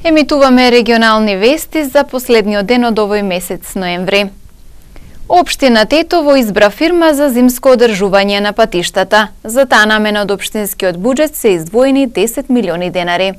Емитуваме регионални вести за последниот ден од овој месец ноември. Општина Тетово избра фирма за зимско одржување на патиштата. За таа намена од општинскиот буџет се издвоени 10 милиони денари.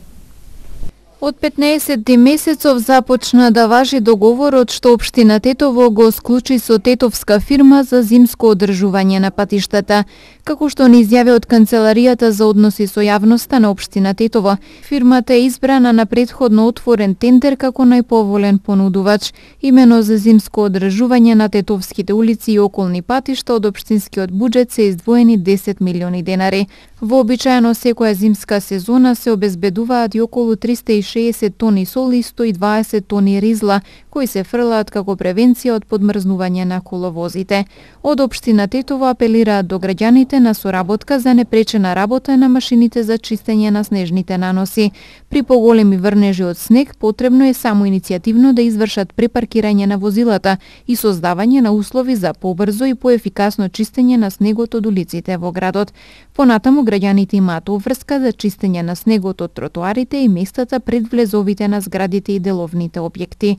Од 15 месецов започна да важи договорот што општина Тетово го склучи со тетовска фирма за зимско одржување на патиштата. Како што ни изјави од Канцеларијата за односи со јавноста на општина Тетово, фирмата е избрана на претходно отворен тендер како најповолен понудувач, имено за зимско одржување на тетовските улици и околни патишта од општинскиот буџет се издвоени 10 милиони денари. Вообичаено секоја зимска сезона се обезбедуваат и околу 360 тони сол и 120 тони ризла, кои се фрлаат како превенција од подмрзнување на коловозите. Од општина Тетово апелираат до граѓаните на соработка за непречена работа на машините за чистење на снежните наноси. При поголеми врнежи од снег потребно е само иницијативно да извршат препаркирање на возилата и создавање на услови за побрзо и поефикасно чистење на снегот од улиците во градот. Понатаму граѓаните имаат обврска за чистење на снегот од тротоарите и местата пред влезовите на зградите и деловните објекти.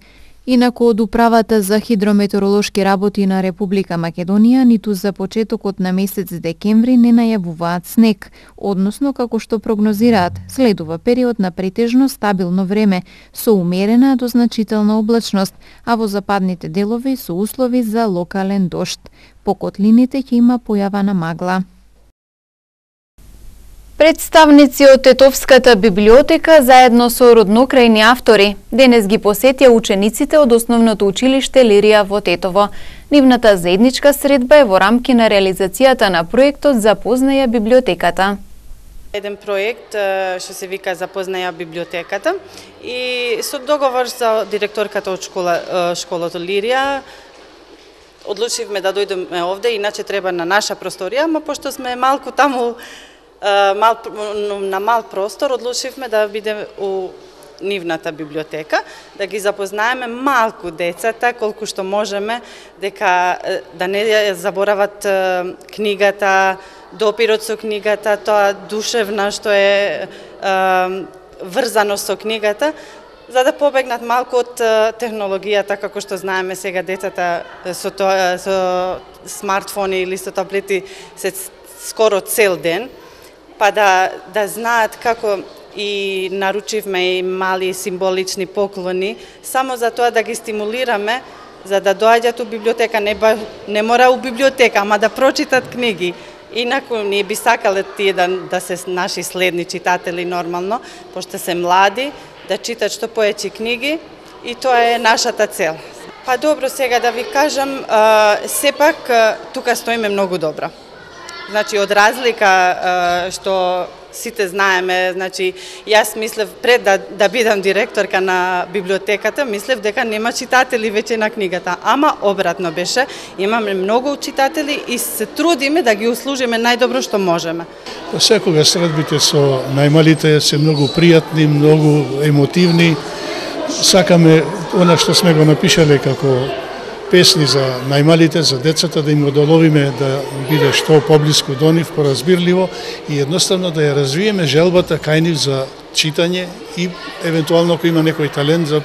Инаку од Управата за хидрометеоролошки работи на Република Македонија ниту за почетокот на месец декември не најавуваат снег, односно како што прогнозираат, следува период на претежно стабилно време со умерена до значителна облачност, а во западните делови со услови за локален дожд. По котлините ќе има појава на магла. Представници од Тетовската библиотека заедно со роднокрајни автори денес ги посетија учениците од основното училиште Лирија во Тетово. Нивната заедничка средба е во рамки на реализацијата на проектот Запознаја библиотеката. Еден проект што се вика Запознаја библиотеката и со договор со директорката од школото Лирија одлучивме да дојдеме овде, иначе треба на наша просторија, ама пошто сме малку таму на мал простор, одлучивме да биде у нивната библиотека, да ги запознаеме малку децата, колку што можеме, дека да не заборават книгата, допирот со книгата, тоа душевна што е врзано со книгата, за да побегнат малку од технологијата, како што знаеме сега децата со смартфони или со таблети се скоро цел ден, па да знаат како и наручивме и мали символични поклони, само за тоа да ги стимулираме, за да доаѓат у библиотека, не мора у библиотека, ама да прочитат книги. Инаку ние би сакале тие да се наши следни читатели нормално, пошто се млади, да читат што поеќе книги и тоа е нашата цел. Па добро, сега да ви кажам, сепак тука стоиме многу добро. Значи, од разлика што сите знаеме, значи, јас мислев пред да бидам директорка на библиотеката, мислев дека нема читатели веќе на книгата, ама обратно беше, имаме многу читатели и се трудиме да ги услужиме најдобро што можеме. Секогаш средбите со најмалите се многу пријатни, многу емотивни. Сакаме она што сме го напишале како песни за најмалите, за децата, да им го доловиме да биде што поблиску до нив, поразбирливо и едноставно да ја развиеме желбата кај нив за читање и евентуално ако има некој талент да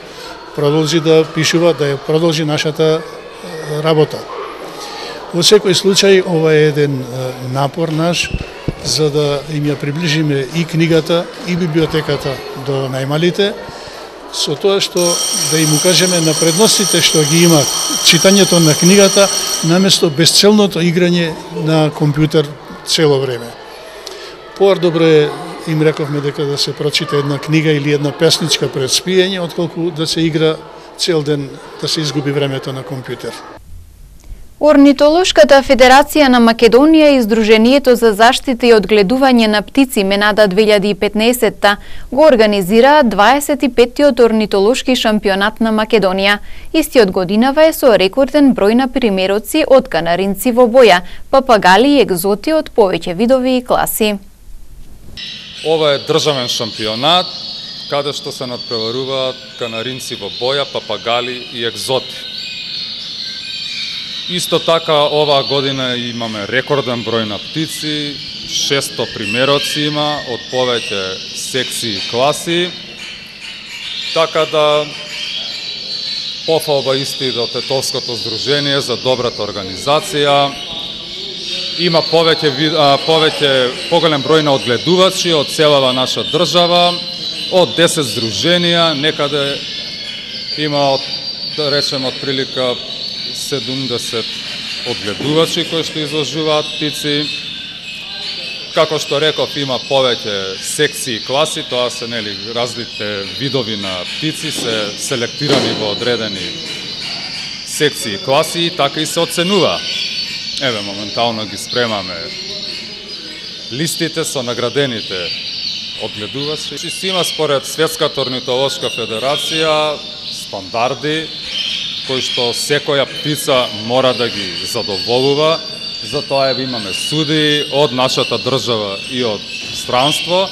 продолжи да пишува, да ја продолжи нашата работа. Во секој случај ова е еден напор наш за да им ја приближиме и книгата и библиотеката до најмалите, со тоа што да им укажеме на предностите што ги има читањето на книгата наместо безцелното играње на компјутер цело време. Подобро е, им рековме дека да се прочита една книга или една песничка пред спиење, отколку да се игра цел ден, да се изгуби времето на компјутер. Орнитолошката федерација на Македонија и Сдруженијето за заштита и одгледување на птици Менада 2015 го организираат 25-тиот орнитолошки шампионат на Македонија. Истиот годинава е со рекорден број на примероци од канаринци во боја, папагали и екзоти од повеќе видови и класи. Ова е државен шампионат каде што се надпреваруваат канаринци во боја, папагали и екзоти. Исто така, оваа година имаме рекорден број на птици, 600 примероци има од повеќе секции и класи. така да пофалба исти до Тетовското здружение за добрата организација. Има поголем број на одгледувачи од целава наша држава, од 10 здруженија, некаде има, да речем, од прилика 70 одгледувачи кои што изложуваат птици. Како што реков, има повеќе секции и класи, тоа се различните видови на птици, се селектирани во одредени секции и класи и така и се оценува. Еве, моментално ги спремаме листите со наградените одгледувачи. Си има според Светската орнитолошка федерација стандарди кои што секоја птица мора да ги задоволува. Затоа имаме суди од нашата држава и од странство,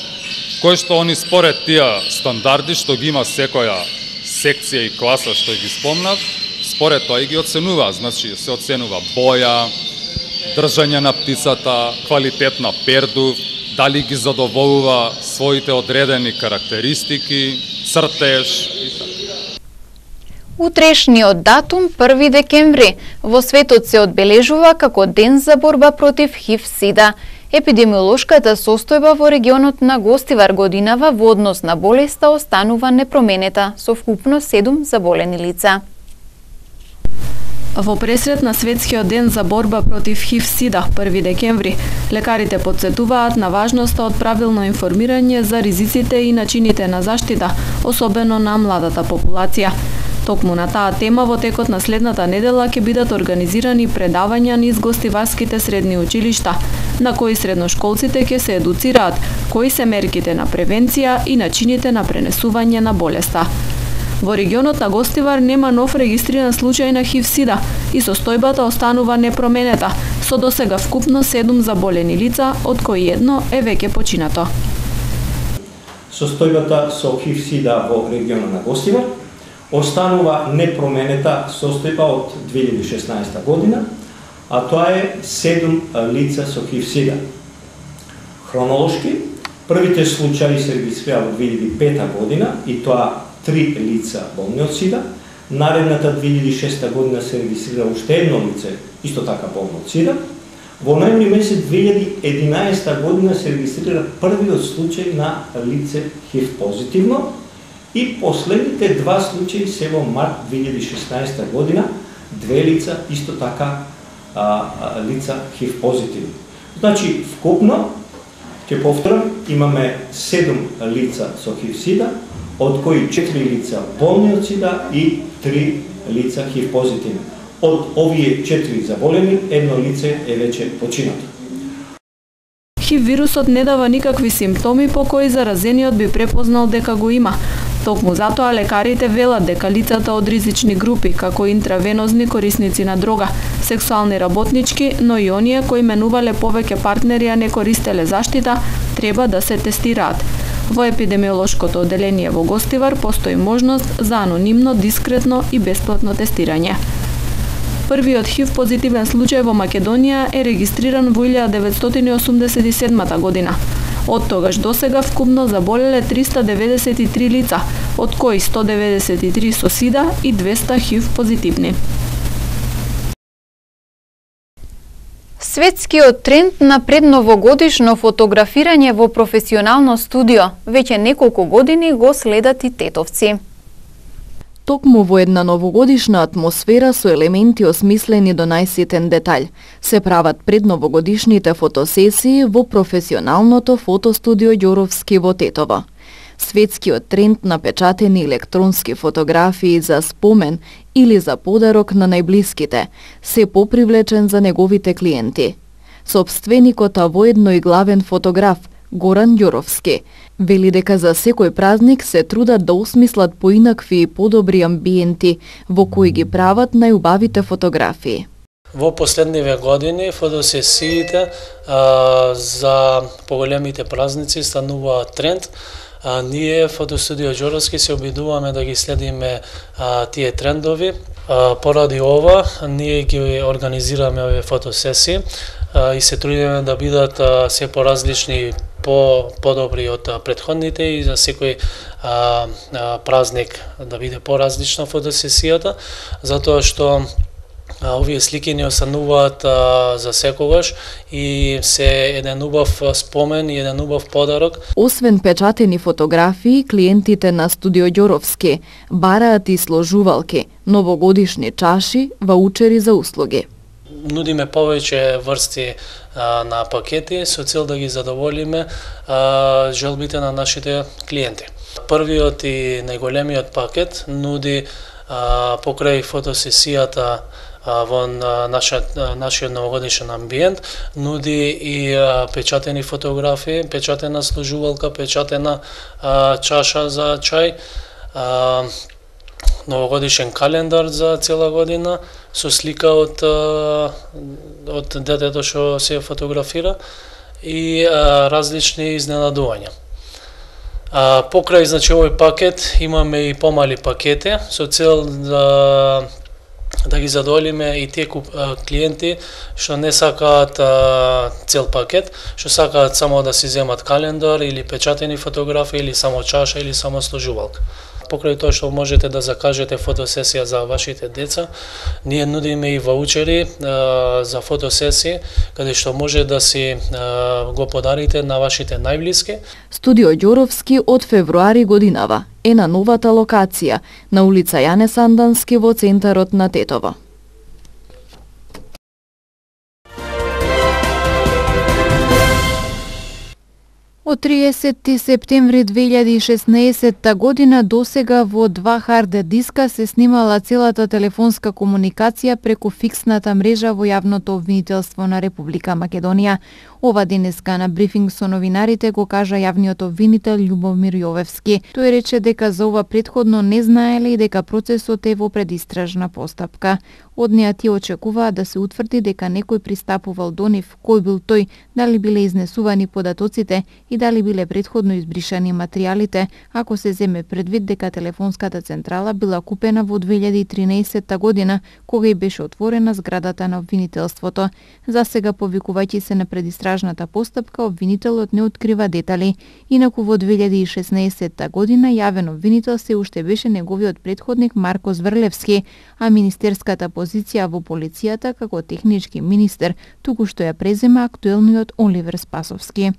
кои што они според тие стандарди што ги има секоја секција и класа што ги спомнав, според тоа и ги оценува. Значи се оценува боја, држање на птицата, квалитет на пердув, дали ги задоволува своите одредени карактеристики, цртеж и така. Утрешниот датум 1 декември во светот се одбележува како Ден за борба против ХИВ-СИДА. Епидемиолошката состојба во регионот на Гостивар годинава во однос на болеста останува непроменета, со вкупно 7 заболени лица. Во пресрет на Светскиот ден за борба против ХИВ-СИДА 1 декември, лекарите потсетуваат на важноста од правилно информирање за ризиците и начините на заштита, особено на младата популација. Токму на таа тема во текот на следната недела ќе бидат организирани предавања низ гостиварските средни училишта, на кои средношколците ќе се едуцираат кои се мерките на превенција и начините на пренесување на болеста. Во регионот на Гостивар нема нов регистриран случај на ХИВ-СИДА и состојбата останува непроменета, со досега вкупно 7 заболени лица, од кои едно е веќе починато. Состојбата со ХИВ-СИДА во регионот на Гостивар останува непроменета состојба од 2016 година, а тоа е 7 лица со ХИВ-СИДА. Хронолошки, првите случаи се регистрираа во 2005 година и тоа 3 лица болни од СИДА. Наредната 2006 година се регистрира уште едно лице, исто така болно од СИДА. Во ноември месец 2011 година се регистрира првиот случај на лице ХИВ позитивно и последните 2 случаи се во март 2016 година, 2 лица исто така лица ХИВ позитивни. Значи, вкупно, ќе повторам, имаме 7 лица со ХИВ-СИДА, од кои 4 лица болни од СИДА и 3 лица ХИВ позитивни. Од овие 4 заболени, едно лице е веќе починато. ХИВ вирусот не дава никакви симптоми по кои заразениот би препознал дека го има. Токму затоа лекарите велат дека лицата од ризични групи, како интравенозни корисници на дрога, сексуални работнички, но и оние кои менувале повеќе партнери а не користеле заштита, треба да се тестираат. Во епидемиолошкото одделение во Гостивар постои можност за анонимно, дискретно и бесплатно тестирање. Првиот ХИВ позитивен случај во Македонија е регистриран во 1987 година. Од тогаш досега вкупно заболеле 393 лица, од кои 193 со СИДА и 200 ХИВ позитивни. Светскиот тренд на предновогодишно фотографирање во професионално студио веќе неколку години го следат и тетовци. Токму во една новогодишна атмосфера со елементи осмислени до најситен детаљ, се прават предновогодишните фотосесии во професионалното фотостудио Ѓоровски во Тетово. Светскиот тренд на печатени електронски фотографии за спомен или за подарок на најблиските се попривлечен за неговите клиенти. Собственикот, а воедно и главен фотограф, Горан Ѓоровски, вели дека за секој празник се трудат да осмислат поинакви и подобри амбиенти во кои ги прават најубавите фотографии. Во последниве години фотосесиите за поголемите празници стануваат тренд. Ние, фотостудио Ѓоровски, се обидуваме да ги следиме тие трендови. Поради ова, ние ги организираме овие фотосесии и се трудиме да бидат се поразлични подобри од претходните и за секој празник да биде поразлична фотосесијата, затоа што овие слики не остануваат за секогаш и се еден убав спомен и еден убав подарок. Освен печатени фотографии, клиентите на Студио Ѓоровски бараат и сложувалки, новогодишни чаши, ваучери за услуги. Нудиме повеќе врсти на пакети со цел да ги задоволиме желбите на нашите клиенти. Првиот и најголемиот пакет нуди покрај фотосесијата во нашиот новогодишен амбиент, нуди и печатени фотографии, печатена сложувалка, печатена чаша за чај, новогодишен календар за цела година со слика од детето што се фотографира и различни изненадувања. Покрај овој пакет имаме и помали пакети со цел да ги задоволиме и тие клиенти што не сакаат цел пакет, што сакаат само да си земат календар или печатени фотографии или само чаша или само сложувалка. Покрај тоа што можете да закажете фотосесија за вашите деца, ние нудиме и ваучери за фотосесии, каде што може да си го подарите на вашите најблиски. Студио Ѓоровски од февруари годинава е на новата локација, на улица Јане Сандански во центарот на Тетово. Од 30 септември 2016 година досега во 2 хард диска се снимала целата телефонска комуникација преку фиксната мрежа во јавното обвинителство на Република Македонија. Ова денеска на брифинг со новинарите го кажа јавниот обвинител Љубомир Јовевски. Тој рече дека за ова претходно не знаеле и дека процесот е во предистражна постапка. Од неа тие очекуваат да се утврди дека некој пристапувал до нив, кој бил тој, дали биле изнесувани податоците и дали биле претходно избришани материјалите, ако се земе предвид дека телефонската централа била купена во 2013 година, кога и беше отворена зградата на обвинителството. За сега, повикувајќи се на предистражната постапка, обвинителот не открива детали. Инаку во 2016 година јавен обвинител се уште беше неговиот претходник Марко Зврлевски, а министерската позиција во полицијата како технички министер туку што ја презема актуелниот Оливер Спасовски.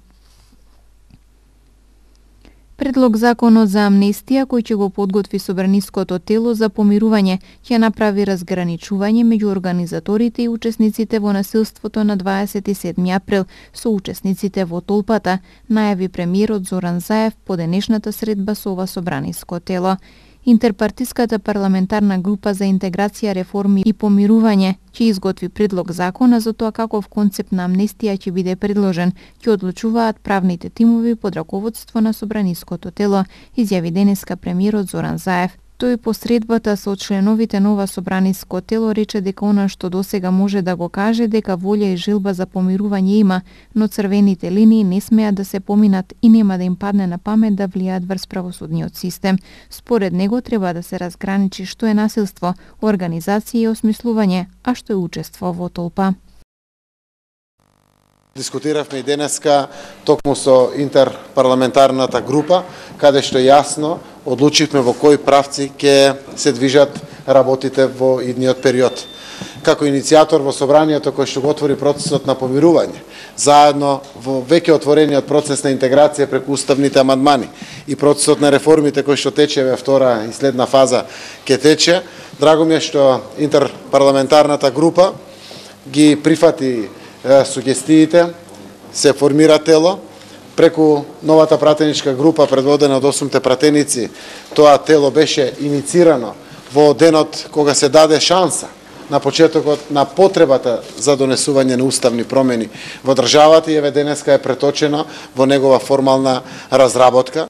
Предлог законот за амнестија кој ќе го подготви собраниското тело за помирување ќе направи разграничување меѓу организаторите и учесниците во насилството на 27 април со учесниците во толпата, најави премиерот Зоран Заев по денешната средба со ова собраниско тело. Интерпартиската парламентарна група за интеграција, реформи и помирување ќе изготви предлог закона за тоа каков концепт на амнестија ќе биде предложен, ќе одлучуваат правните тимови под раководство на собраниското тело, изјави денеска премиерот Зоран Заев. Тој по средбата со членовите на ова собраниско тело рече дека она што досега може да го каже дека волја и желба за помирување има, но црвените линии не смеат да се поминат и нема да им падне на памет да влијаат врз правосудниот систем. Според него треба да се разграничи што е насилство, организација и осмислување, а што е учество во толпа. Дискутиравме и денеска токму со интерпарламентарната група, каде што јасно одлучивме во кои правци ќе се движат работите во идниот период. Како иницијатор во собранието кој што го отвори процесот на помирување, заедно во веќе отворениот процес на интеграција преку уставните амандмани и процесот на реформите кој што тече во втора и следна фаза ќе тече, драго ми е што интерпарламентарната група ги прифати сугестиите, се формира тело, преку новата пратеничка група предводена од 8 пратеници, тоа тело беше иницирано во денот кога се даде шанса на почетокот на потребата за донесување на уставни промени во државата и еве денеска е преточено во негова формална разработка.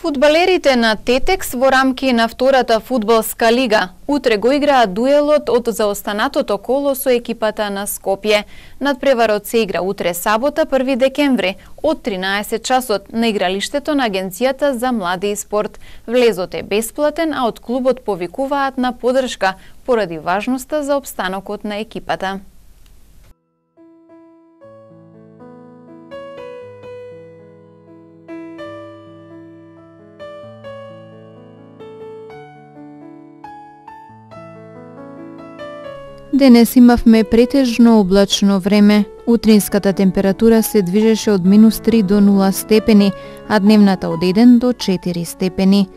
Фудбалерите на Тетекс во рамки на втората фудбалска лига утре го играат дуелот од заостанатото коло со екипата на Скопје. Надпреварот се игра утре сабота 1 декември од 13 часот на игралиштето на Агенцијата за млади и спорт. Влезот е бесплатен, а од клубот повикуваат на поддршка поради важноста за опстанокот на екипата. Денес имавме претежно облачно време. Утринската температура се движеше од -3 до 0 степени, а дневната од 1 до 4 степени.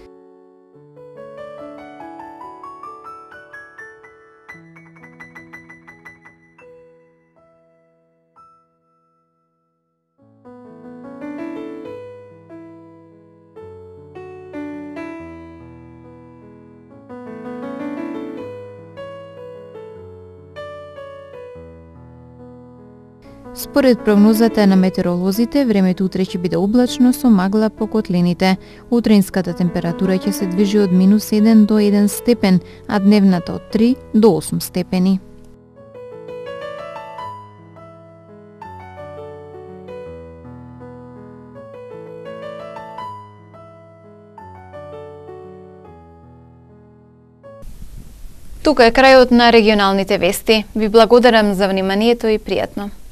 Според прогнозата на метеоролозите, времето утре ќе биде облачно со магла по котлините. Утринската температура ќе се движи од -1 до 1 степен, а дневната од 3 до 8 степени. Тука е крајот на регионалните вести. Ви благодарам за вниманието и пријатно.